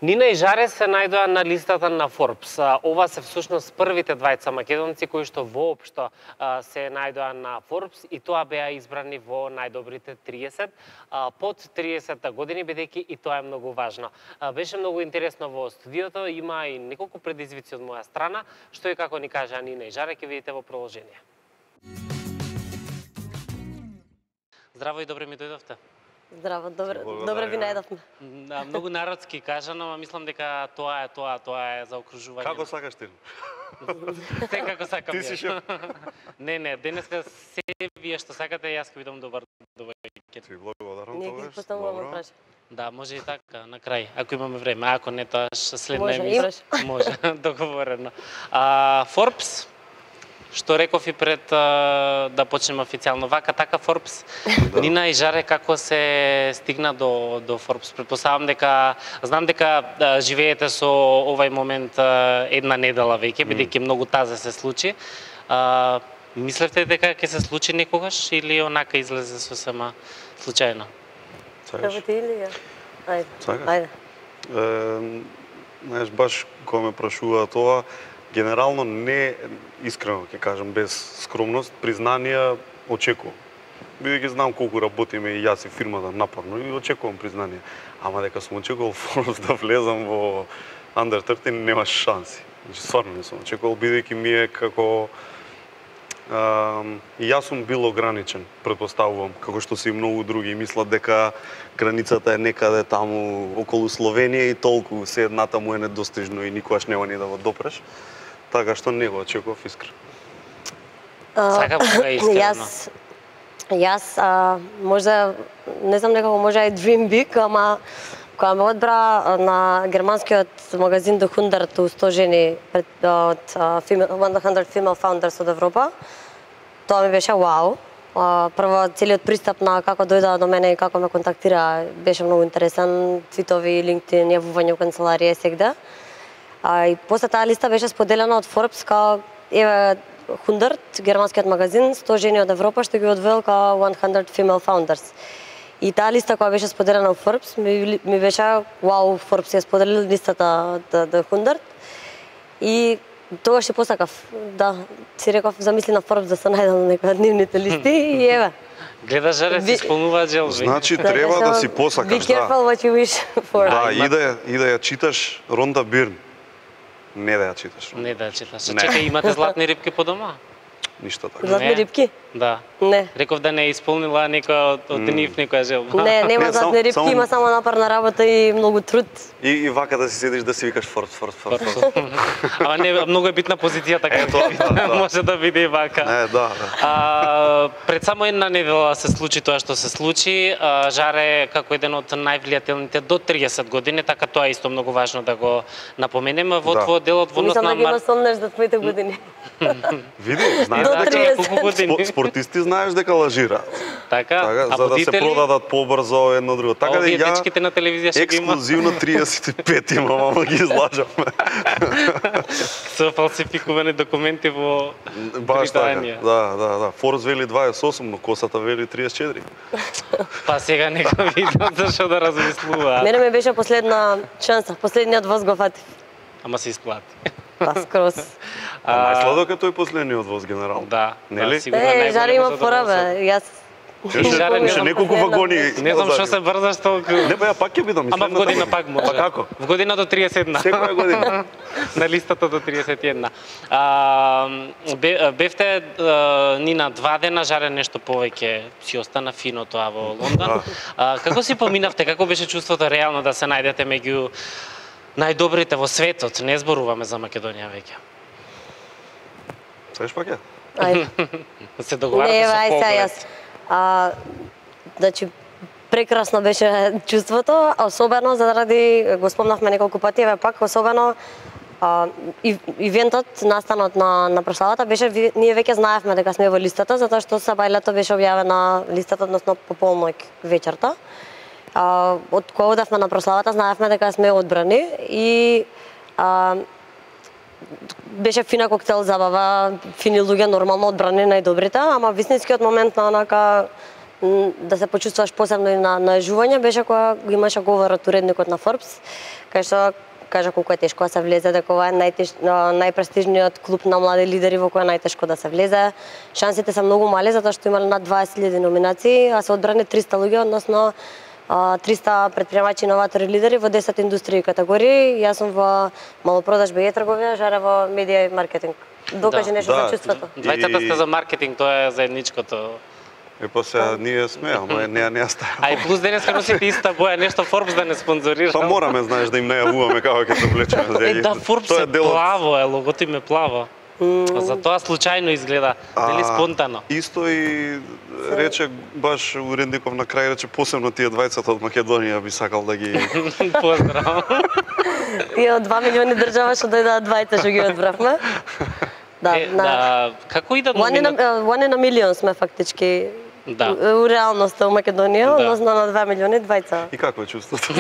Нина и Жаре се најдоа на листата на Forbes. Ова се всушност првите двајца македонци кои што воопшто се најдоа на Forbes и тоа беа избрани во најдобрите 30 под 30 години, бидејќи и тоа е многу важно. Беше многу интересно во студиото, има и неколку предизвици од моја страна, што и како ни кажа Нина и Жаре, ќе видите во продолжение. Здраво и добре ми дојдовте. Здраво, добре ви најдовме. Да, многу народски кажано, ама мислам дека тоа е за окружување. Како сакаш ти? Се како сакам. Ти си шеф. Не, денеска се вие што сакате, јас ќе бидам добар довајќи. Ти благодарам Ние тогаш. ги поставуваме праш. Да, може и така, на крај, ако имаме време, ако не, тоа следна Може, емисија. Може, договорено. Forbes, што реков и пред да почнеме официјално, вака така Forbes. Да. Нина и Жаре, како се стигна до Forbes? Предпоставам дека, знам дека живеете со овај момент една недела веќе, бидејќи многу тазе се случи. Мислевте дека ќе се случи некогаш или онака излезе сосема случајно? Како ти или ја? Ајде. Знаеш, баш кога ме прашува тоа, генерално не, искрено ќе кажам, без скромност, признанија очекувам. Бидејќи знам колку работиме и јас и фирмата напорно и очекувам признание. Ама дека сум очекувал Forbes да влезам во Under 30, нема шанси. Значи, стварно не сум очекувал, бидејќи ми е како... И јас сум бил ограничен, предпоставувам, како што се и многу други. Мислат дека границата е некаде таму околу Словенија и толку, се едната му е недостижно и никогаш нема ни да го допреш. Така што не го очекував искрено. Сакам кога е искрено. Јас можда, не знам некако може и dream big, ама кога ме одбра на германскиот магазин The 100 жени од 100 female founders од Европа, тоа ми беше вау. Прво, целиот пристап на како дојдоа до мене и како ме контактира беше многу интересен. Твитови, LinkedIn, јавување во канцеларија сегде. И после таа листа беше споделена од Forbes као еве 100, германскиот магазин, 100 жени од Европа што ги одвел као 100 female founders. И таа листа која беше споделена од Forbes ми беше вау, Forbes ја споделил листата од 100. И тогаш си посакав, да, си реков, замисли на Forbes да се најдам на некоја нивните листи и еве. Гледа, Жаре, си исполнуваат желби. Значи, треба да си посакаш, Be careful what you wish for. Да, и да ја читаш Ронда Бирн. Не да ја читаш. Не да ја читаш. Чекај, имате златни рибки по дома? Ништо така. Златни рибки? Да. Не. Реков да не исполнила некоја од нив некоја желба. Не, нема златни рибки, има само напорна работа и многу труд. И вака да си седиш да си викаш Forbes. Ама не, многу е битна позицијата кај може да биде и вака. Да. Пред само една недела се случи тоа што се случи. Жаре како еден од највлијателните до 30 години, така тоа е исто многу важно да го напоменеме во твојот дел од водност на Мислам да ги насомнеш за твоите години. Види, знаеш дека спортисти знаеш дека лажираат. Така, за да се продадат побрзо едно друго. Така да ја дечките на телевизија што ги има. Ексклузивно 35 имам, ама ги излажам. Со фалсификувани документи во Британија. Да. Forbes вели 28, но косата вели 34. Па сега нека видам зашо да размислува. Мене ме беше последна шанса, последниот воз го фатив. Ама се исплати. Па скрос. Најсладок е тој последниот воз генерално. Да, нели? Жаре има пора бе. Јас Ше неколку вагони. Не знам што се брзаш толку. Не бе, ја пак ќе бидам. Ама в година пак може. Па како? В година до 31. Секоја година. На листата до 31. Бевте Нина 2 дена, Жаре нешто повеќе си остана фино тоа во Лондон. Како си поминавте, како беше чувството реално да се најдете меѓу најдобрите во светот? Не зборуваме за Македонија веќе. Сеш пак ја? Ајде. Се договарате со поглед. Значи, прекрасно беше чувството, особено заради, го спомнавме неколку пати, еве пак, особено ивентот, настанот на прославата беше, ние веќе знаевме дека сме во листата, затоа што саба лето беше објавена листата, односно по полноќ вечерта. Од кога одевме на прославата, знаевме дека сме одбрани и беше фина коктел забава, фини луѓе, нормално одбрани најдобрите, ама вистинскиот момент на онака да се почувствуваш посебно и на жување беше кога го имаше говорот уредникот на Forbes, кај што кажа колку е тешко да се влезе, дека ова е најпрестижниот клуб на млади лидери во кој е најтешко да се влезе. Шансите се многу мали затоа што имале над 20.000 номинации, а се одбрани 300 луѓе, односно 300 предприемачи, новатори, лидери во 10 индустрии и категории. Јас сум во малопродажба и трговија, Жаре во медија и маркетинг. Докажи нешто за чувството. Двајцата сте за маркетинг, тоа е заедничкото. Па сега ние сме, ама не става. А и плюс денеска носите иста боја, нешто Forbes да не спонзорира. Па мораме, знаеш, да им најавуваме како ќе се облечеме. Да, Forbes е плаво, логото им е плаво. Затоа случајно изгледа, дали спонтано. Исто и рече баш уредников на крај, рече посебно тие двајцата од Македонија би сакал да ги поздрав. Тие од 2 милиони држава што дојдоа двајца што ги одбравме. Да, како идат номинации? One in a million сме фактички. Да. У реалноста у Македонија, односно на 2 милиони двајца. И какво е чувството?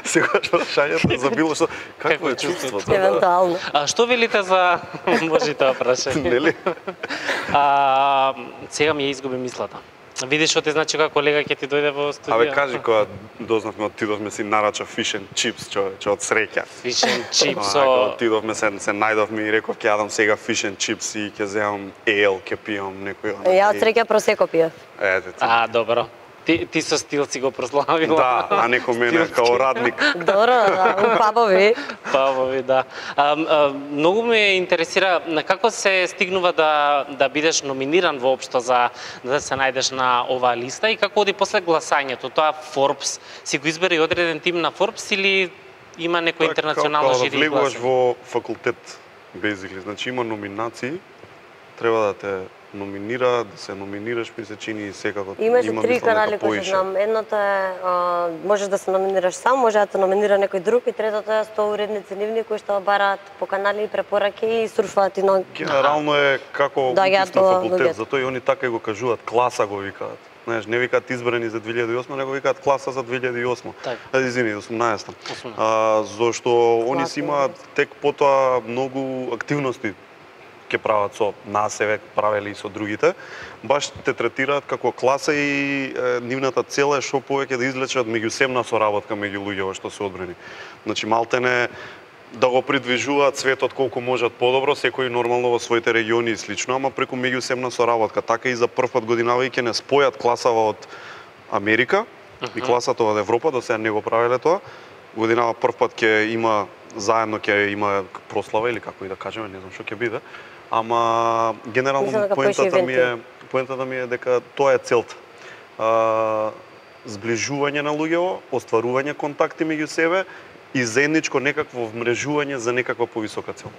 Сегаш прашањето за било што, какво е чувството? Евентуално. А што велите за може тоа прашање? Нели? Сега ми ја изгуби мислата. Видиш што ти значи кога колега ќе ти дојде во студија. Абе кажи кога дознавме отидовме си нарача fish and chips, човече, од среќа. Fish and chips. Отидовме се најдовме и реков ќе јадам сега fish and chips и ќе земам ale, ќе пијам некој. Ја од среќа просеко пиев. Ете ти. Добро. Ти со стил си го прославила. Да, а некој мене као радник. Добро, у пабови. Пабови, да. Многу ме интересира како се стигнува да бидеш номиниран воопшто за да се најдеш на оваа листа и како оди после гласањето. Тоа Forbes си го избере и одреден тим на Forbes или има некој интернационално жири и гласање? Влегуваш во факултет, basically. Значи има номинации, треба да те номинира, да се номинираш, ми се чини секако. Имаше 3 канали кои се знам. Едното е можеш да се номинираш сам, може да те номинира некој друг и третото е 100 уредници нивни кои што бараат по канали препораки и сурфаат и на генерално е како на факултет, затоа и они така и го кажуваат, класа го викаат. Знаеш, не викаат избрани за 2008, него викаат класа за 2008. Извини, 18. Зошто они си имаат тек потоа многу активности ќе прават со нас, еве правеле и со другите, баш те третираат како класа и нивната цел е што повеќе да излечат меѓусебна соработка меѓу луѓето што се одбрани. Значи малтене да го придвижуваат светот колку можат подобро, секој нормално во своите региони и слично, ама преку меѓусебна соработка. Така и за прв пат годинавајќи не спојат класава од Америка и класата од Европа, до сега не го правеле тоа. Годинава прв пат ќе има заедно ќе има прослава или како и да кажеме, не знам што ќе биде. Ама генерално поентата ми е дека тоа е целта. Зближување на луѓето, остварување контакти меѓу себе и заедничко некакво вмрежување за некаква повисока цел.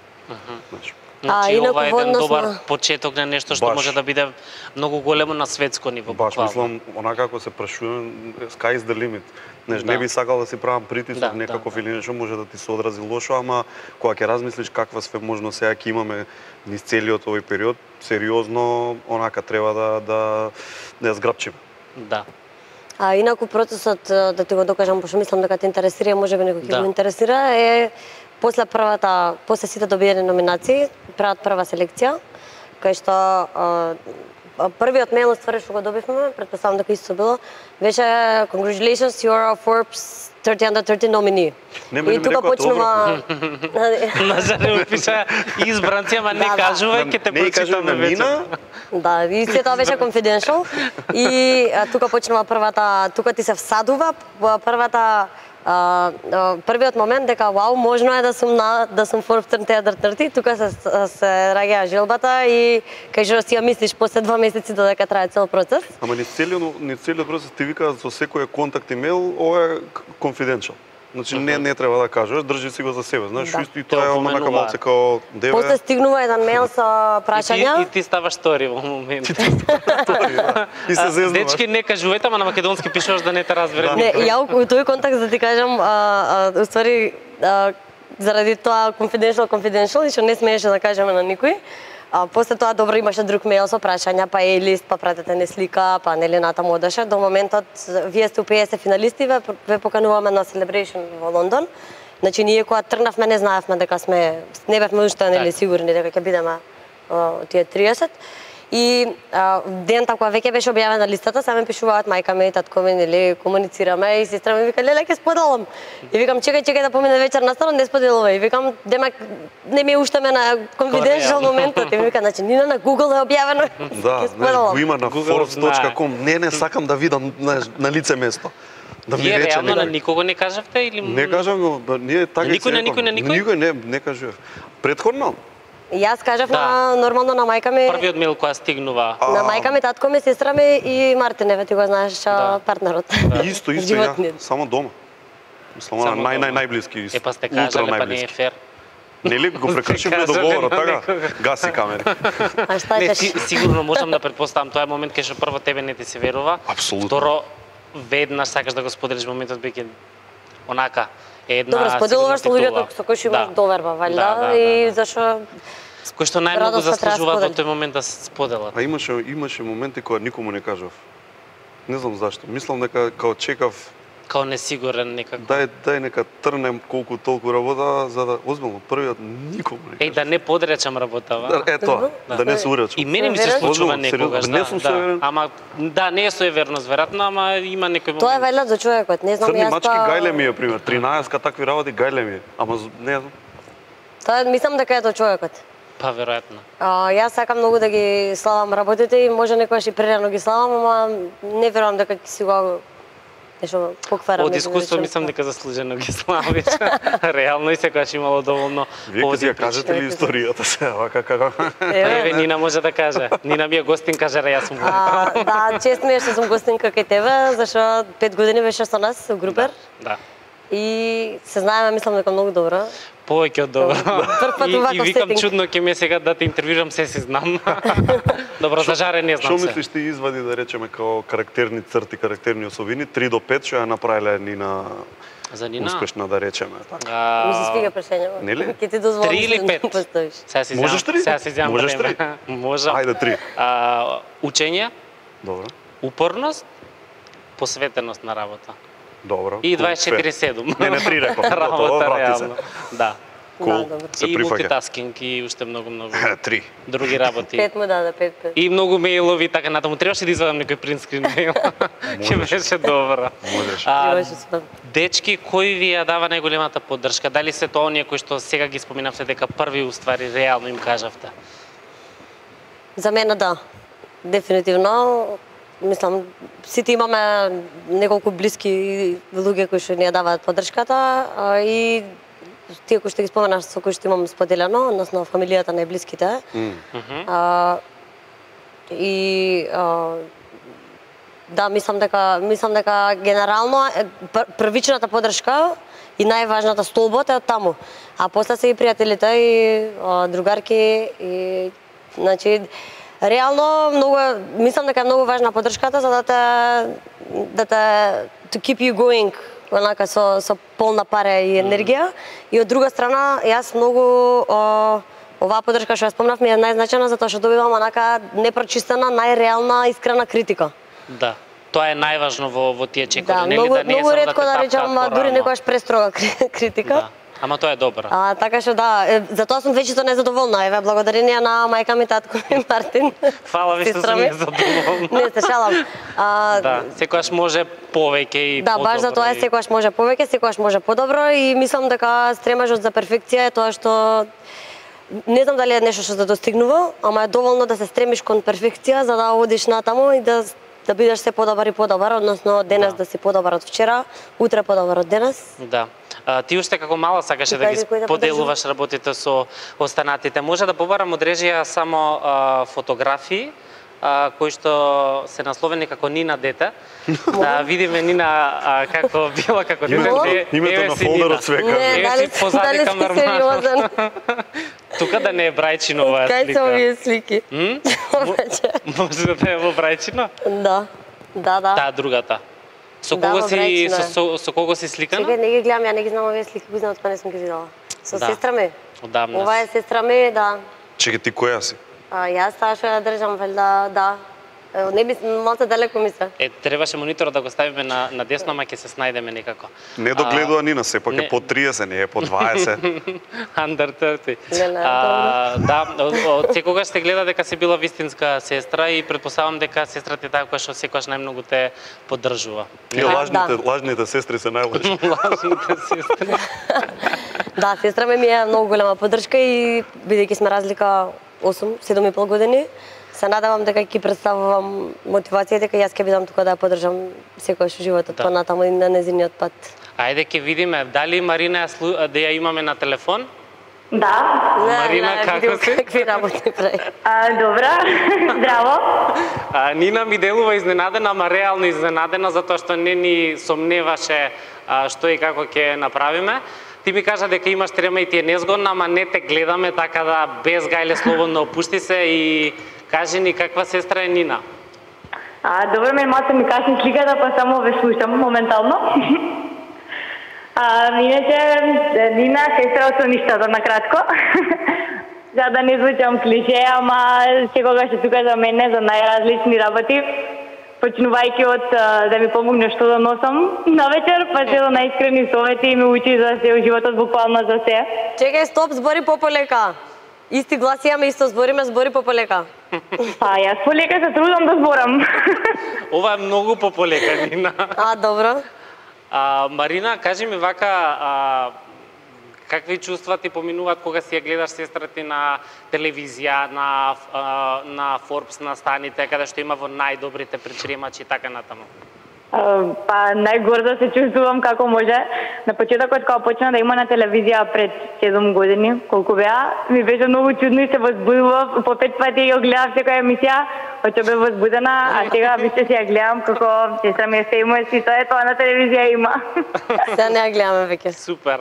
Значи ова е еден добар почеток на нешто што може да биде многу големо на светско ниво. Баш мислам, онака како се прашувам, sky is the limit. Не би сакал да си правам притисок некаков или нешто може да ти се одрази лошо, ама кога ќе размислиш каква све можно сега ќе имаме низ целиот овој период, сериозно онака треба да ја зграпчиме. Да. Инаку процесот, да ти го докажам, пошто мислам дека те интересира, можеби некој ќе го интересира, е после сите добиени номинации, прават прва селекција, кај што првиот мејл ствари што го добивме, претпоставам дека исто било, беше congratulations, you are a Forbes 30 under 30 nominee. И тука почнува на Жаре пиша избранци, ама не кажува, ќе те прочитаме вече. Да, и се тоа беше confidential. И тука почнува тука ти се всадува првиот момент дека вау, можно е да сум Forbes 30 under 30, тука се раѓа желбата и кај што си ја мислиш после 2 месеци додека трае цел процес. Ама низ целиот процес ти викаат со секој контакт имейл, ова е confidential. Значи не треба да кажеш, држи си го за себе, знаеш, и тоа е онака малце као деве. После стигнува еден мејл со прашања. И ти ставаш стори во момент. И се зезнуваш. Дечки не кажувајте, ама на македонски пишуваш да не те разбере. Не, ја у тој контакт да ти кажам, уствари заради тоа confidential и што не смееше да кажеме на никој. После тоа добро имаше друг мејл со прашања, па лист, па пратете не слика, па нели натаму одеше. До моментот вие сте у 50 финалисти, ве покануваме на Celebration во Лондон. Значи ние кога тргнавме не знаевме дека не бевме уште нели сигурни дека ќе бидеме тие 30. И ден кога веќе беше објавена листата, сами пишуваат мајка ми, татко ми, нели, комуницираме и сестра ми вика, леле, ќе споделам. И викам, чекај да помине вечер настано, не споделувај. И викам, демек не ми уштаме на confidential моментот. И ми вика, значи Нина на Google е објавено. Да, знаеш, го има на forbes.com. Не сакам да видам на лице место. Да ми рече реално на никого не кажавте или не кажам го, ние така никој не кажував. Претходно Јас кажав нормално на мајка ми. Првиот мејл која стигнува. На мајка ми, татко ми, сестра ми и Мартин, еве ти го знаеш, партнерот. Исто ја, само дома. Само најблиски. Па сте кажале, па не е фер. Нели го прекршивме договорот, така? Гаси камери. А шта не, кажеш? сигурно можам да претпоставам, тоа е момент кај што прво тебе не ти се верува. Апсолутно. Второ, веднаш сакаш да го споделиш моментот биќе онака една. Добро, споделуваш со луѓето со кои што имаш доверба, валјда, и зашо кои што најмногу заслужуваат во тој момент да се споделат. А имаше моменти кога никому не кажав. Не знам зашто. Мислам дека као чекав као несигурен некако. Дај нека трнем колку толку работа за да озбилно првиот никому не кажав. Да не подречам работава. Ето, да не се уречам. И мене ми се случува некогаш, не сум суверен. Ама не е суеверност веројатно, ама има некој момент. Тоа е валјда за човекот, не знам јас. Црни мачки гајле ми е пример, 13 такви работи гајле ми е, ама не знам. Тоа мислам дека е тоа човекот. Па веројатно. Јас сакам многу да ги славам работите и може некогаш и прерано ги славам, ама не верувам дека ќе си го нешто покварам. Од искуство мислам дека заслужено ги славиш. Реално и секогаш имало доволно. Вие ќе ја кажете ли историјата се, вака како? Еве Нина може да каже. Нина ми е гостинка, јас сум го. Да, чест ми е што сум гостинка кај тебе, зашто 5 години беше со нас со групер. Да. И се знаеме, мислам дека многу добро. Повеќе од добро. И викам чудно ќе ме сега да те интервјуирам, се си знам. Добро, за жаре не знам се. Што мислиш ти извади да речеме као карактерни црти, карактерни особини 3 до 5 што ја направиле Нина за Нина успешна да речеме така. Ми се свига прашањето. Нели? Ќе ти дозволам 3 или 5? Поставиш. Можеш 3? Сега си земам. Можеш 3? Можам. Ајде 3. Учење. Добро. Упорност, посветеност на работа. Добро. И 24/7. Не 3 реков. Тоа врати се. Да. Кул. Се И прифаќа. мултитаскинг и уште многу 3. други работи. 5 му даде, 5. И многу мејлови така натаму. Требаше да извадам некој принтскрин мејл. Ќе беше добро. Можеш. Дечки, кој ви ја дава најголемата поддршка? Дали се тоа оние кои што сега ги споминавте дека први уствари реално им кажавте? За мене да. Дефинитивно. Мислам, сите имаме неколку блиски луѓе кои што ни ја даваат поддршката и тие кои што ги споменаш со кои што имам споделено, односно фамилијата најблиските. Да, мислам дека генерално првичната поддршка и најважната столбот е од таму. А после се и пријателите и другарки и значи реално мислам дека е многу важна поддршката за да те to keep you going онака со полна пара и енергија. И од друга страна, јас многу оваа поддршка што ја спомнав ми е најзначајна затоа што добивам онака непрочистена, најреална, искрена критика. Да. Тоа е најважно во тие чекови, да, нели да не е многу само да ретко да речам дури некогаш престрога критика. Да. Ама тоа е добро. Така што да, затоа сум вечето незадоволна. Еве, благодарение на мајка ми, татко ми, Мартин. Фала ви што сум незадоволна. Не се шалам. Да, секогаш може повеќе и да, подобро. Да, баш за тоа е секогаш може повеќе, секогаш може подобро и мислам дека стремажот за перфекција е тоа што не знам дали е нешто што се достигнува, ама е доволно да се стремиш кон перфекција за да одиш натаму и да бидеш се подобар и подобар, односно денес да си подобар од вчера, утре подобар од денес. Да. Ти уште како мала сакаше да ги поделуваш работите со останатите. Може да побарам од режија само фотографии кои што се насловени како Нина дете. Да видиме Нина како била како дете. Името на фолдерот свека. Дали си сериозен? Тука да не е Брајчино оваа слика. Кај се овие слики? Може да е во Брајчино? Да. Таа другата. Со кого си сликана? Чекај, не ги гледам, ја не ги знам овие слики, кои знам откога не сум ги видела. Со сестра ми. Одамна. Ова е сестра ми, да. Чекај, ти која си? Јас таа што ја држам, валјда, да. Не би малку далеко ми се. Требаше мониторот да го ставиме на десно, ама ќе се снајдеме некако. Не догледува Нина, сепак е по 30, не е по 20. Under 30. Да, од секогаш се гледа дека си била вистинска сестра и претпоставам дека сестрата е таа која што секогаш најмногу те поддржува. Тие лажните сестри се најлоши. Лажните сестри. Да, сестра ми е многу голема поддршка и бидејќи сме разлика 7,5 години, се надевам дека ќе представувам мотивација дека јас ќе бидам тука да ја поддржам секојаш животот понатаму и на незиниот пат. Ајде ќе видиме дали Марина да ја имаме на телефон. Да. Марина, како си? Какви работи прави? Добра, здраво. Нина ми делува изненадена, ама реално изненадена, затоа што не ни сомневаше што и како ќе направиме. Ти ми кажа дека имаш трема и ти е незгодна, ама не те гледаме, така да без гајле слободно опушти се и кажи ни каква сестра е Нина. Добро, малку ми касни сликата, па само ве слушам моментално. Иначе, Нина, сестра од соништата, на кратко. За да не звучам клише, ама секогаш е тука за мене, за најразлични работи. Почнувајќи од да ми помогне што да носам на вечер, па се до најискрени совети и ме учи за се, животот буквално за се. Чекај, стоп, збори пополека. Исти глас имаме, исто збориме, збори пополека. Јас полека се трудам да зборам. Ова е многу пополека, Нина. Добро. Марина, кажи ми вака, какви чувства ти поминуваат кога си ја гледаш сестра ти на телевизија, на Forbes, на станите, каде што има во најдобрите предприемачи и така натаму? Па најгорда се чувствувам како може. На почетокот кога почна да има на телевизија пред 7 години, колку беа, ми беше многу чудно и се возбудував. По 5 пати ја гледав секоја емисија, очо бе возбудена, а сега више си ја гледам како сестра ми е famous и тоа на телевизија има. Сега не ја гледаме веќе. Супер.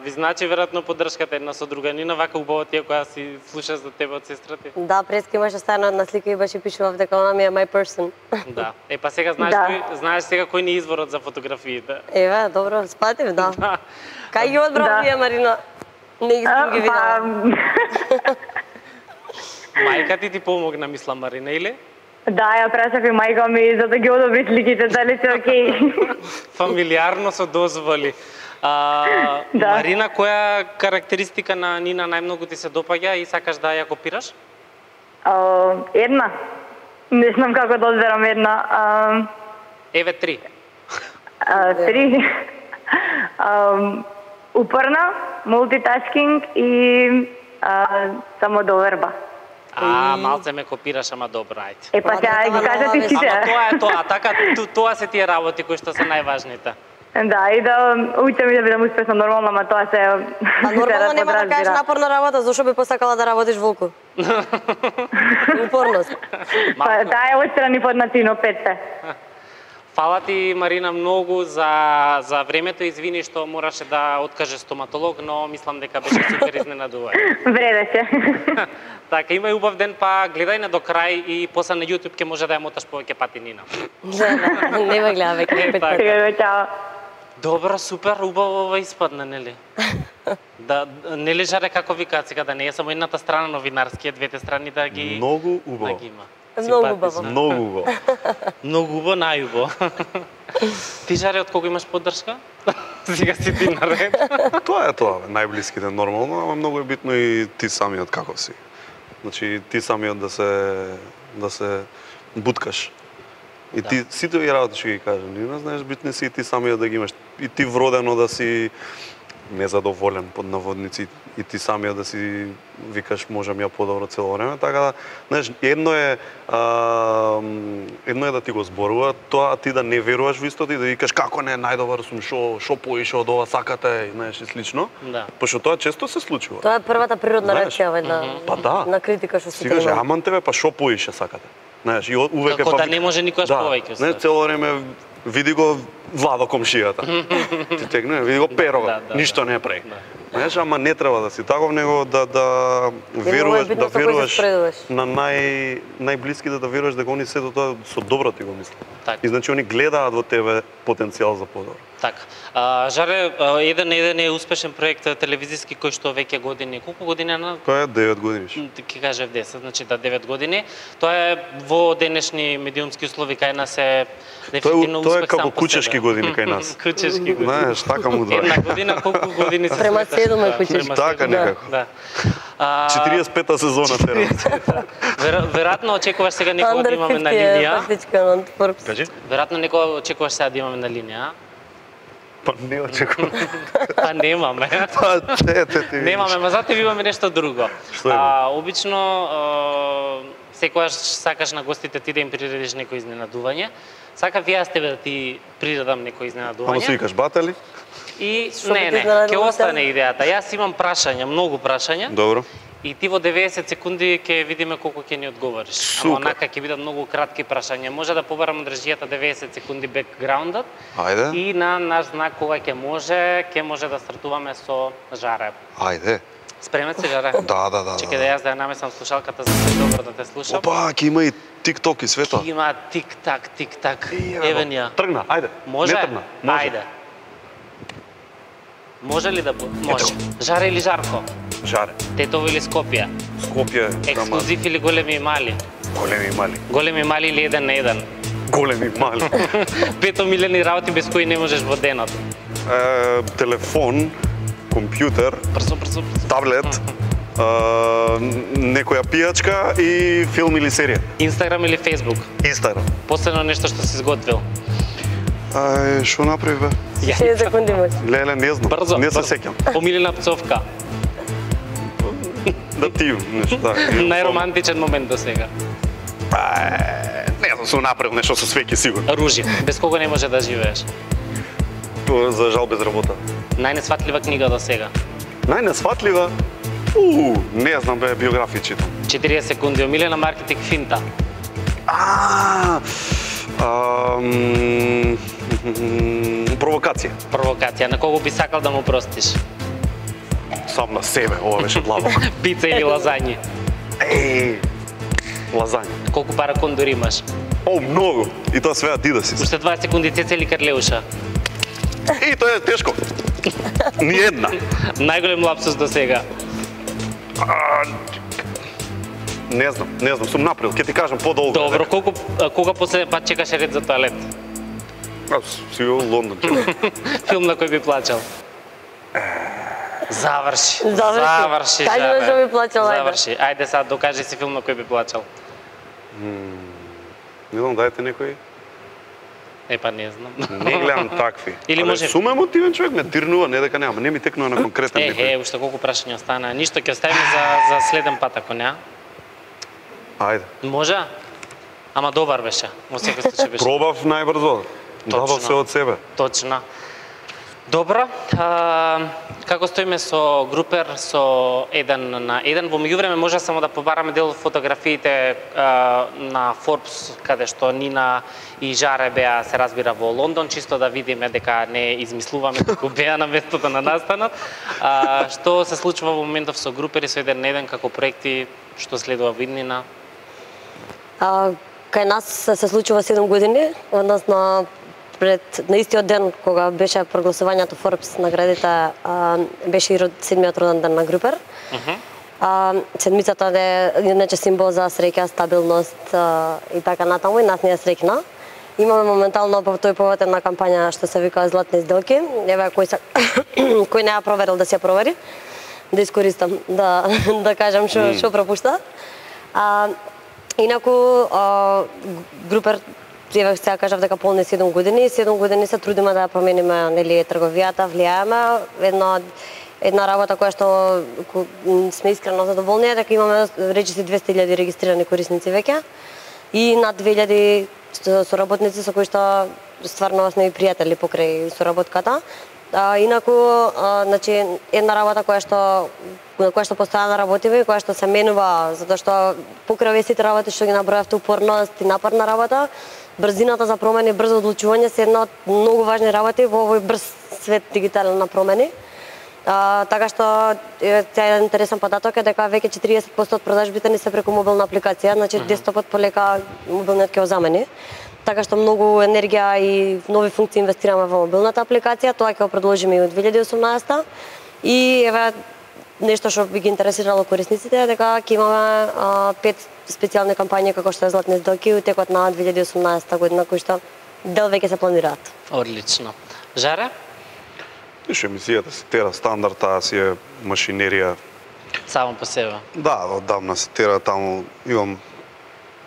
Ви значи веројатно поддршката една со друга. Нина, вака убаво ти е која си слуша за тебе од сестра ти? Да, преска имаше ставена една слика и беше пишував дека она ми е my person. Да. Па сега знаеш сега кој ни е изворот за фотографиите. Еве, добро, спатив, да. Кај ги одбрав вие, Марина? Не ги видела. Мајка ти помогна, мислам, Марина, или? Да, ја прашав и мајка ми за да ги одобри сликите, дали се окей. Фамилиарно со дозволи. Марина, која карактеристика на Нина најмногу ти се допаѓа и сакаш да ја копираш? Една. Не знам како да одберам една. Еве 3. 3. Упорна, мултитаскинг и самодоверба. Малце ме копираш, ама добро, ајде. Па сега ги кажа ти сите. Ама тоа, така, тоа се тие работи кои што се најважните. Да, и да учам и да бидам успешна нормално, ама тоа се... Нормално нема да кажеш напорна работа, зашо би посакала да работиш волку? Упорност. Па таа е отстрани под начино 5. Фала ти, Марина, многу за времето. Извини што мораше да откаже стоматолог, но мислам дека беше супер изненадување. Вредеше. Така, имај убав ден, па гледај на до крај и после на YouTube ќе може да ја моташ повеќе пати, Нина. Не ме гледа веќе. Сега, чао. Добро, супер, убаво ова испадна, нели? Да, нели жаре како викаат сега, да не е само едната страна новинарскија, двете страни да ги... Многу убаво. Да ги има. Многу убаво. Многу убаво. Многу убаво, најубаво. Ти, Жаре, од кого имаш поддршка? Сега си ти наред. Тоа е тоа, најблиските нормално, ама многу е битно и ти самиот како си. Значи, ти самиот да се буткаш. И ти сите ги работи што ги кажам, не знаеш, битни си и ти самиот да ги имаш. И ти вродено да си незадоволен под наводници и ти самиот да си викаш можам ја подобро цело време, така да, знаеш, едно е да ти го зборува, тоа ти да не веруваш во истото и да викаш како не најдобар сум, шо поише од ова сакате, знаеш, и слично. Да. Пошто тоа често се случува. Тоа е првата природна реакција на критика што се Си каже, аман тебе, па шо поише сакате. Знаеш, и увек како да не може никогаш повеќе. Не, цело време види го Владо комшијата. Ти тегне, види го Pero, ништо не прави. Знаеш, ама не треба да си таков, него да веруваш на најблиските, да веруваш дека они сето тоа со добро ти го мислат. И значи они гледаат во тебе потенцијал за подобро. Така. Жаре, еден е успешен проект телевизиски кој што веќе години, колку години на? Тоа е 9 години. Ќе кажев 10, значи 9 години. Тоа е во денешни медиумски услови кај нас е дефинитивно успех сам по себе. Тоа е како кучешки години кај нас. Кучешки години. Знаеш, така му два. Една година колку години се Према 7 е кучешки. Така некако. Да. 45-та сезона терам. Веројатно очекуваш сега некој да имаме на линија. Кажи? Веројатно некој очекуваш сега да имаме на линија. Па не очекувам. Па немаме. Па Немаме, ма затоа имаме нешто друго. Што има? Обично секогаш сакаш на гостите ти да им приредиш некој изненадување. Сакав и јас тебе да ти приредам некој изненадување. Ама се викаш батали? И не, ќе остане идејата. Јас имам прашања, многу прашања. Добро. И ти во 90 секунди ќе видиме колку ќе ни одговориш. Супер. Ама онака ќе бидат многу кратки прашања. Може да побарам од режијата 90 секунди бекграундот. Ајде. И на наш знак кога ќе може да стартуваме со Жаре. Ајде. Спремен си, Жаре? Да. Чекај да јас да ја намесам слушалката за да добро да те слушам. Опа, ќе има и TikTok и свето. Има тик-так. Еве ни ја. Тргна, ајде. Може? Не тргна. Може. Ајде. Може ли да може? Жаре или Жарко? Жаре. Тетово или Скопје? Скопје. Ексклузив или големи и мали? Големи и мали. Големи и мали или 1 на 1? Големи и мали. 5 милиони работи без кои не можеш во денот. Телефон, компјутер, Брзо. таблет, некоја пијачка и филм или серија. Инстаграм или Фейсбук? Инстаграм. Последно нешто што си изготвил? Што направи бе? 6 секунди може. Леле, не знам. Брзо. Не се сеќам. Омилена пцовка. Да ти нешто. Најромантичен момент до сега. Не знам, сум направил нешто со свеќе сигурно. Ружи. Без кого не може да живееш? За жал без работа. Најнесфатлива книга до сега? Најнесфатлива? Не знам бе, биографија читам. 40 секунди. Омилена маркетинг финта. Провокација. Провокација. На кого би сакал да му простиш? Сам на себе, ова беше длабоко. Пица или лазањи? Лазања. Колку пара кондор имаш? Многу. И тоа све ти да си. Уште 20 секунди Цеца или Карлеуша? И тоа е тешко. Ни една. Најголем лапсус до сега? Не знам, сум направил, ќе ти кажам подолго. Добро, кога последен пат чекаше ред за тоалет? Си во Лондон. Филм на кој би плачал? Заврши. Кажи што би плачал, ајде. Заврши. Ајде сега докажи си филм на кој би плачал. Не знам, дајте некој. Па не знам. Не гледам такви. Или може сум емотивен човек, ме тирнува, не дека нема, не ми текнува на конкретен некој. Уште колку прашања остана. Ништо ќе оставиме за следен пат ако не. Ајде. Може? Ама добар беше. Во секој случај беше. Пробав најбрзо. Дадов се од себе. Точно. Добро. Како стоиме со Групер со 1 на 1? Во меѓувреме може само да побараме дел фотографиите на Forbes каде што Нина и Жаре беа се разбира во Лондон, чисто да видиме дека не измислуваме како беа на местото на настанот. Што се случува во моментов со Групер и со 1 на 1 како проекти, што следува во иднина? Кај нас се случува 7 години, односно на истиот ден кога беше прогласувањето Forbes наградите, беше и 7-миот роден ден на Групер. Седмицата е иначе символ за среќа, стабилност и така натаму, и нас не е среќна. Имаме моментално по тој повод една кампања што се вика Златни сделки. Еве кој не ја проверил да се ја провери. Да искористам да кажам што пропушта. Инаку Групер сега кажав дека полни 7 години и 7 години се трудиме да ја промениме нели трговијата, влијаеме. Една работа која што сме искрено задоволни е дека имаме речиси 200.000 регистрирани корисници веќе и над 2.000 соработници со кои што стварно сме и пријатели покрај соработката. Инаку, значи, една работа на која што постојано работиме и која што се менува, затоа што покрај сите работи што ги набројавте, упорност и напорна работа, брзината за промени, брзо одлучување се една од многу важни работи во овој брз свет дигитален на промени. Така што еден интересен податок е дека веќе 40% од продажбите ни се преку мобилна апликација, значи десктопот полека мобилниот ќе го замени. така што многу енергија и нови функции инвестираме во мобилната апликација, тоа ќе го продолжиме и во 2018 и еве нешто што би ги интересирало корисниците е дека ќе имаме 5 специјални кампањи како што е Златни сделки у текот на 2018 година, кои што дел веќе се планираат. Одлично. Жаре? Виж, емисијата си тера стандард, таа си е машинерија. Само по себе. Да, одамна се тера таму. Имам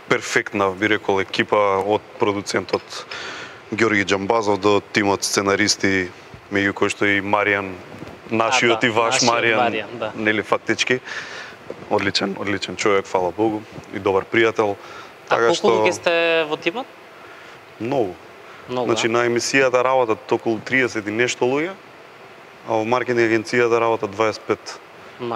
перфектна, би рекол, екипа од продуцентот Ѓорги Џамбазов до тимот сценаристи, меѓу кои што и Маријан, нашиот и ваш Маријан, да. нели фактички. Одличен човек, фала Богу, и добар пријател. Така што колку луѓе сте во тимот? Многу. Значи да. на емисијата работат околу 30 и нешто луѓе, а во маркетинг агенцијата работат 25.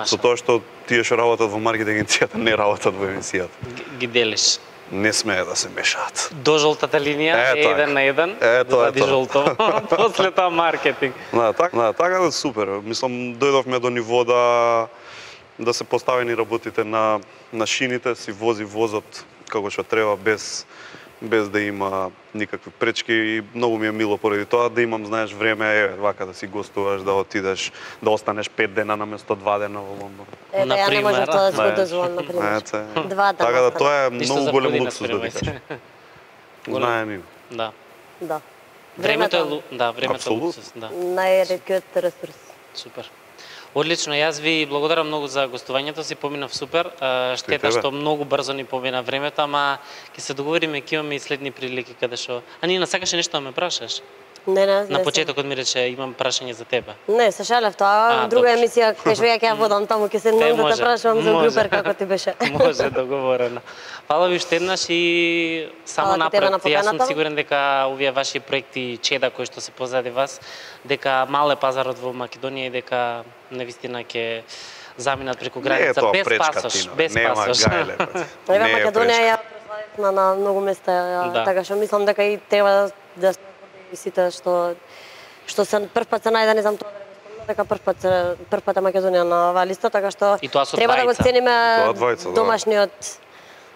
Со тоа што тие што работат во маркетинг агенцијата не работат во емисијата. Ги делиш. Не смее да се мешаат. До жолтата линија е 1 на 1, вади жолто, после тоа маркетинг. Така да супер. Мислам, дојдовме до ниво да се поставени работите на шините, си вози возот како што треба без да има никакви пречки и многу ми е мило поради тоа да имам, знаеш, време вака да си гостуваш, да отидеш, да останеш 5 дена наместо 2 дена во Лондон. Ја не можам тоа да се го дозволам, например. 2 дена. Така да тоа е многу голем луксус да кажеш. Знае ни. Да. Да. Времето е луксус, да. Најреткиот ресурс. Супер. Одлично, јас ви благодарам многу за гостувањето, си поминав супер. Штета што многу брзо ни помина времето, ама ќе се договориме, ќе имаме и следни прилики каде што. А Нина, сакаше нешто да ме прашаш? Не. На почетокот ми рече имам прашање за тебе. Не, се шалев тоа. Друга емисија кај што ја водам таму ќе седнам да те прашувам за групер како ти беше. Може, договорено. Фала ви уште еднаш и само напред. Јас сум сигурен дека овие ваши проекти чеда кои што се позади вас, дека мал е пазарот во Македонија и дека навистина ќе заминат преку граница без пасош, без пасош. Еве Македонија ја прославивме на многу места, така што мислам дека и треба да и сите што се прв се најде, не знам тоа дека прв пат е Македонија на оваа листа, така што треба да го цениме домашниот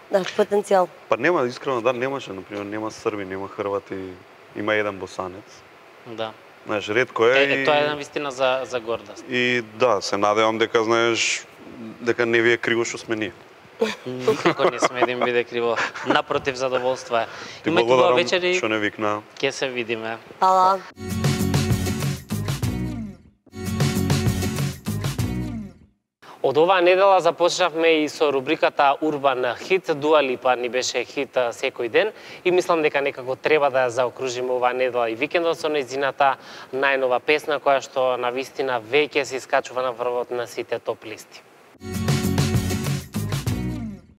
потенцијал. Па нема, искрено да, немаше, например, нема срби, нема хрвати, има еден босанец. Да. Знаеш, ретко е. Тоа е навистина за гордост. И да, се надевам дека, знаеш, дека не ви е криво што сме ние. Никако не сме да им биде криво. Напротив, задоволство е. Ти благодарам што не викна. Ке се видиме. Ала. Од оваа недела започнавме и со рубриката Урбан хит. Дуа Липа ни беше хит секој ден и мислам дека некако треба да ја заокружиме оваа недела и викендот со нејзината најнова песна која што навистина веќе се искачува на врвот на сите топ листи.